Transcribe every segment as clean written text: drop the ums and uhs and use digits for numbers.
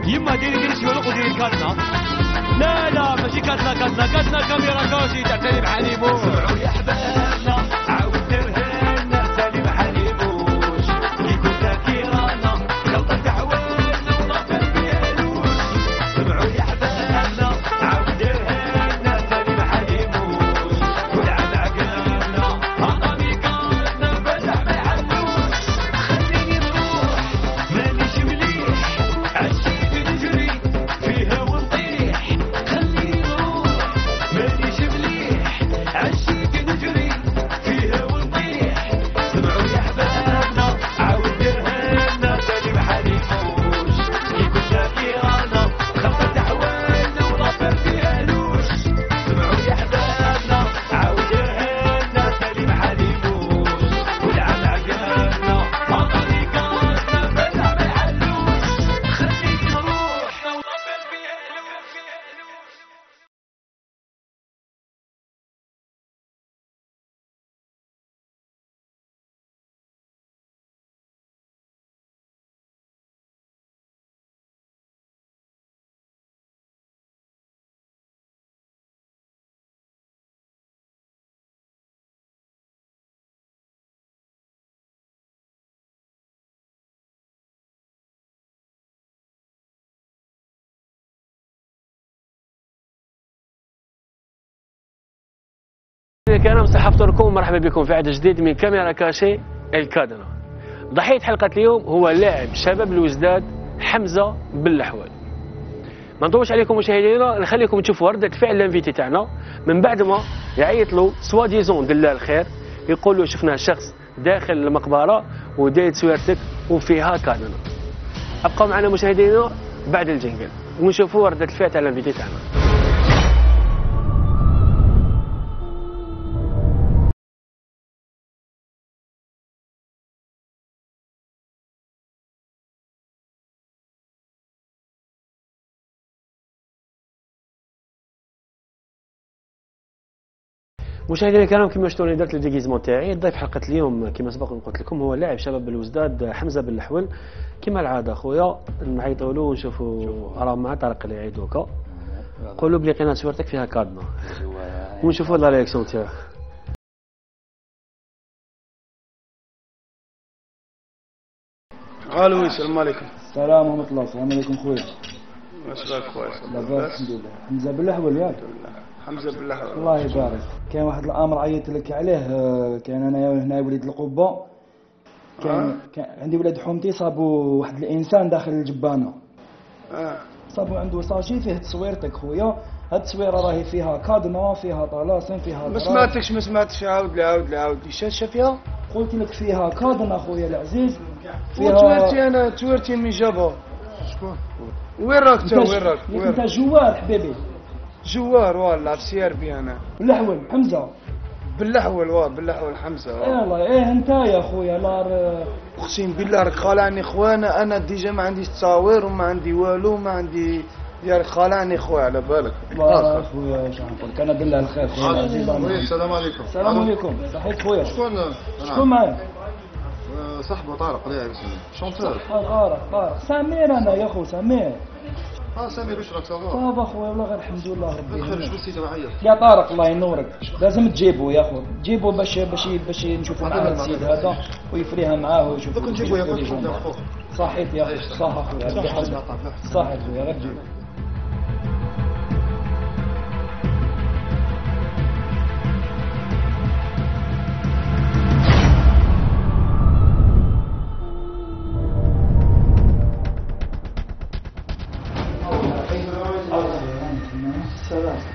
يما ديري الشلوق وديري الكاتنا. لا لا ماشي كاتنا كاميرا كوشي تاع سليم حليمو. سمعوا يا حبابنا عاود درهنا سليم حليموش يقول ذاكرنا غلطة تعوينا ونطر فيها لوش. سمعوا يا حبابنا عاود درهنا سليم حليموش كل عام عقلنا هضمي كاتنا بلع ما يعلوش. خليني نروح مانيش مليح عشيت نجري فيها ونطيح. خليني نروح مانيش مليح عشيت نجري فيها ونطيح. سمعوا يا حبابنا عاود درهنا سليم حليموش يقول ذاكرنا خلطة تعوينا ونطر فيها لوش. سمعوا يا حبابنا عاود درهنا سليم حليموش كل عام عقلنا هضمي كاتنا بلع ما يعلوش. خليني نروح ونطر فيها لوش. الكرام صحفتكم مرحبا بكم في عدد جديد من كاميرا كاشي الكادنا. ضحية حلقة اليوم هو لاعب شباب الوزداد حمزة باللحوال. ما نطولش عليكم مشاهدينا، نخليكم تشوفوا ردة فعل الانفيتي تاعنا من بعد ما يعيط له سوا ديزون دلال الخير، يقول له شفنا شخص داخل المقبرة وداير تصويرتك وفيها كادنا. ابقوا معنا مشاهدينا بعد الجنجل ونشوفوا ردة الفعل تاع الانفيتي تاعنا. مشاهدينا الكرام كما شفتوا درت الديغيزمون تاعي. ضيف حلقه اليوم كما سبق قلت لكم هو لاعب شباب الوزداد حمزه باللحول. كما العاده خويا نعيطوا له ونشوفوا راه مع طارق اللي يعيط دوكا. قولوا بلي لقينا صورتك فيها كادنا ونشوفوا لا رياكسيون تاعك. الو السلام عليكم. السلام ورحمة الله. السلام عليكم خويا. واش راك خويا؟ لاباس الحمد لله. حمزة باللحول ياك؟ حمزه بالله. الله يبارك. كاين واحد الامر عيطت لك عليه. كان انا هنا وليد القبه. كان عندي ولاد حومتي صابوا واحد الانسان داخل الجبانه. صابوا عنده ساشي فيه تصويرتك خويا. هاد التصويره راهي فيها كادنا فيها طلاسم فيها. ما سمعتش عاود لي شاشه فيها. قلت لك فيها كادنا خويا العزيز. فيها تويرتي من جابها. شكون؟ وين راك انت جوار حبيبي. جوار والله في سي ار بي انا. باللحول حمزه. باللحول حمزه. يلا انت يا خويا اقسم بالله راك خالعني خويا. انا ديجا ما عنديش تصاوير وما عندي والو ما عندي يا خالعني خويا على بالك. الله خويا واش نقول لك انا بالله الخير خويا العزيز. السلام عليكم. السلام عليكم. صحيت خويا. شكون معايا؟ صاحبه طارق الله يعرف شونتور. طارق سمير انا يا خو سمير. سمير واش راك صافا؟ صافا خويا والله غير الحمد لله ربي. خرج بالسيده وعيط. يا طارق الله ينورك لازم تجيبو يا خو تجيبو باش نشوفوا معاه السيد هذا ويفريها معاه ويشوفوا. دوك نجيبو يا خويا. صحيت يا خويا صح خويا. صحيت خويا غير جيبو.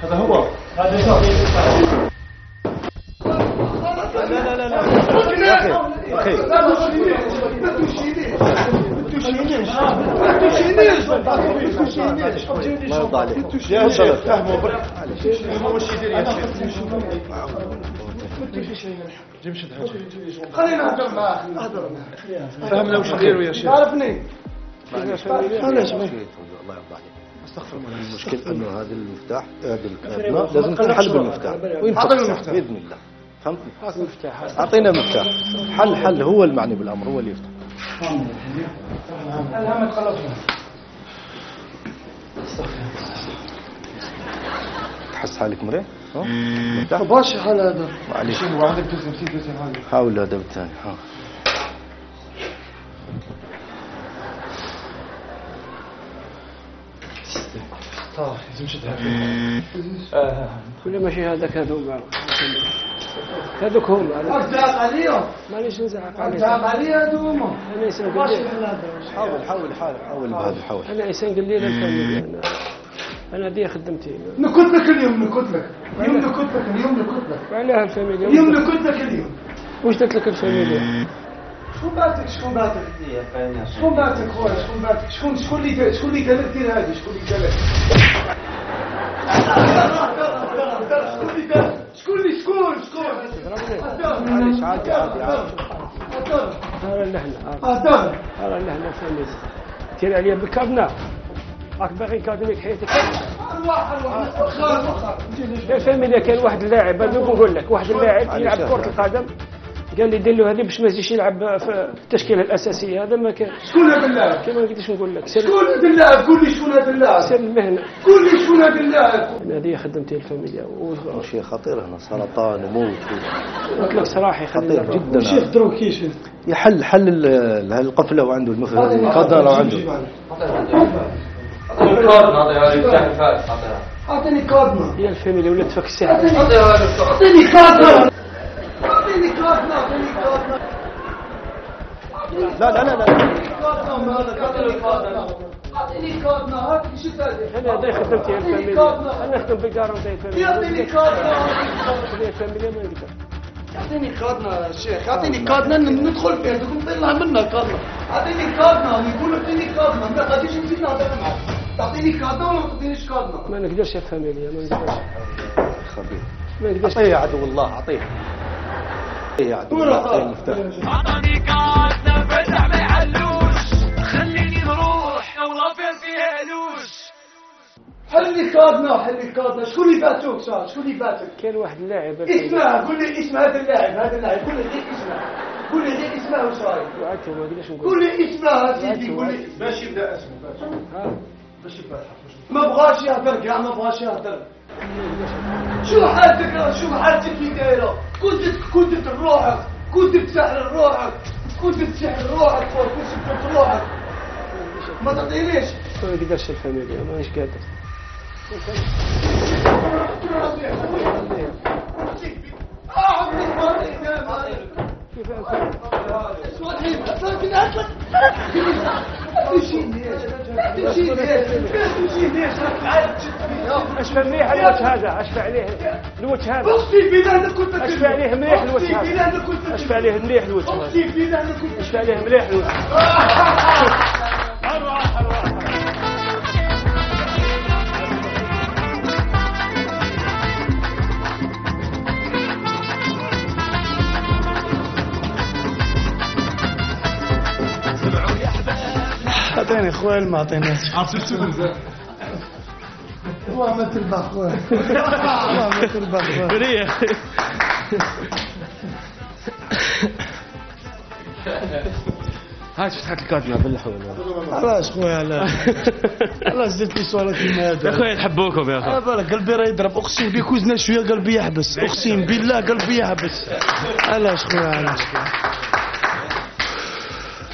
هذا هو الله يرضى عليك يا شيخ فهموا برك واش يدير يا شيخ جيب شد حاجه خلينا نهضر معاه فهمنا واش نديروا يا شيخ عرفني علاش الله يرضى عليك استغفر الله المشكل انه هذا المفتاح هذا الكابله لازم تنحل بالمفتاح وينفتح باذن الله فهمتني اعطينا مفتاح حل هو المعني بالامر هو اللي يفتح الهم تخلصنا تحس حالك مريح؟ مرتاح؟ باش حال هذا معليش هو عندك تسمسي حاجه حاول هذا بالثاني ها. لازم تشدها ولا ماشي هذاك هذوما هذوك هما زعق عليهم مانيش نزعق عليك زعق علي هذوما انا انسان باش قليل حاول بهذا حاول. انا انسان قليل الفاميليا انا هذه خدمتي نكت لك اليوم نكت لك اليوم نكت لك اليوم نكت لك وعليها الفاميليا اليوم نكت لك اليوم واش درت لك الفاميليا شكون بعتك شكون بعتك شكون بعتك خويا شكون بعتك شكون اللي قال لك دير هذه شكون اللي قال لك شكون معليش عادي هذا اللحن هدر هذا اللحن الفاميليا تير عليا بالكابنا راك باغي نكادميك حياتك الفاميليا كان واحد اللاعب انا نقول لك واحد اللاعب يلعب كرة القدم قال لي دير له هذه باش ما يزيدش يلعب في التشكيله الاساسيه هذا ما كان شكون هذا اللاعب كما قلتش نقول لك سر شكون هذا اللاعب قول لي شكون هذا اللاعب سر المهنه قول لي شكون هذا اللاعب انا هذه خدمتي الفاميليا شيء خطير هنا سرطان وموت قلت لك صراحه خطير جدا. شيخ دروك كيش حل القفله وعنده القدر لو عنده. اعطيني كادنا هي الفاميليا ولات تفك السحر اعطيني كادنا اعطيني كادنا اعطيني كادنا لا اعطيني كادنا هات لي شفت هذه انا هذه خدمتي الفاميليا انا نخدم بالكارونتي الفاميليا يعطيني كادنا الفاميليا ما نقدر اعطيني كادنا شيخ اعطيني كادنا ندخل فيها تقوم طلع منها كادنا اعطيني كادنا يقول لك اعطيني كادنا ما غاديش نزيد نهضر معاك تعطيني كادنا ولا ما تعطينيش كادنا ما نقدرش الفاميليا ما نقدرش خبير ما نقدرش اعطيه يا عدو الله اعطيه يا عدو الله اعطيه المفتاح. عطاني كاسة فتح ما يحلوش خليني نروح والله فيها علوش حلي كادنا شكون اللي باتوك صار شكون اللي باتك كان واحد اللاعب اسمه قول لي اسم هذا اللاعب قول لي غير اسمه قول لي غير اسمه واش رايك وعدته ما نقدرش نقول قول لي اسمه سيدي قول لي باش يبدا اسمه باش يبدا ما بغاش يهضر كاع ما بغاش يهضر شو حالتك كي دايره كنت تروحك كنت تسحر روحك كنت سبت روحك ما تعطينيش ما نقدرش الفاميليا مانيش قادر اشفى مليح الوجه هذا اشفى عليه الوجه هذا اختي بالله كنت اشفى عليه مليح الوجه هذا اشفى عليه مليح الوجه هذا اشفى عليه مليح الوجه اعطيني خويا ما اعطيناش والله ما تربح خويا والله ما تربح خويا هاي فتحت الكادنا بالحول علاش خويا علاش زدت لي سؤالك كيما هذا يا خويا نحبوكم يا اخي بالك قلبي راه يضرب اقسم بك وزنا شويه قلبي يحبس اقسم بالله قلبي يحبس علاش خويا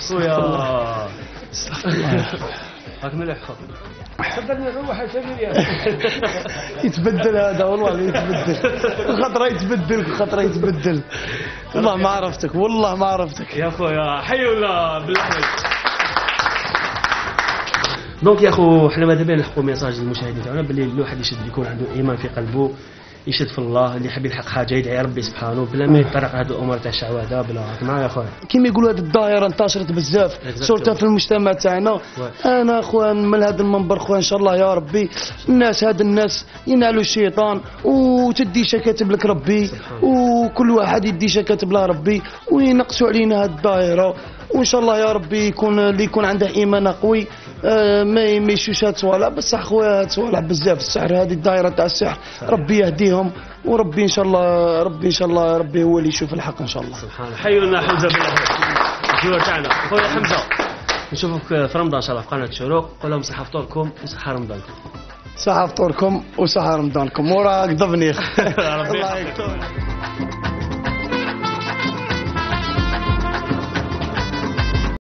خويا استغفر الله هاك مليح صدقني نروح الفاميليا يتبدل هذا والله يتبدل يتبدل والله ما عرفتك يا خويا حي ولا بالحي دونك يا اخو حنا ماذا بينا نلحقوا ميساج للمشاهدين تاعنا باللي الواحد يشد يكون عنده ايمان في قلبه يشد في الله اللي يحب يلحق حاجه يدعي ربي سبحانه بلا ما يطرق هذه الامور تاع الشعوذه بلا معايا يا خويا كيما يقولوا هذه الظاهره انتشرت بزاف صورتها في المجتمع تاعنا انا خويا من هذا المنبر خويا ان شاء الله يا ربي الناس ينالوا الشيطان وتدي كاتب لك ربي وكل واحد يدي كاتب له ربي وينقصوا علينا هذه الظاهره وان شاء الله يا ربي يكون عنده ايمان قوي ما يمشيوش هاد صوالح بصح خويا هاد صوالح بزاف السحر هذه الدائره تاع السحر ربي يهديهم وربي ان شاء الله ربي هو اللي يشوف الحق ان شاء الله سبحان الله حي لنا حمزه بالله الجوار تاعنا خويا حمزه نشوفك في رمضان ان شاء الله في قناه الشروق. قول لهم صحه فطوركم وصحه رمضانكم. صحة فطوركم وصحة رمضانكم. وراك ضبني. ربي الله يكتب.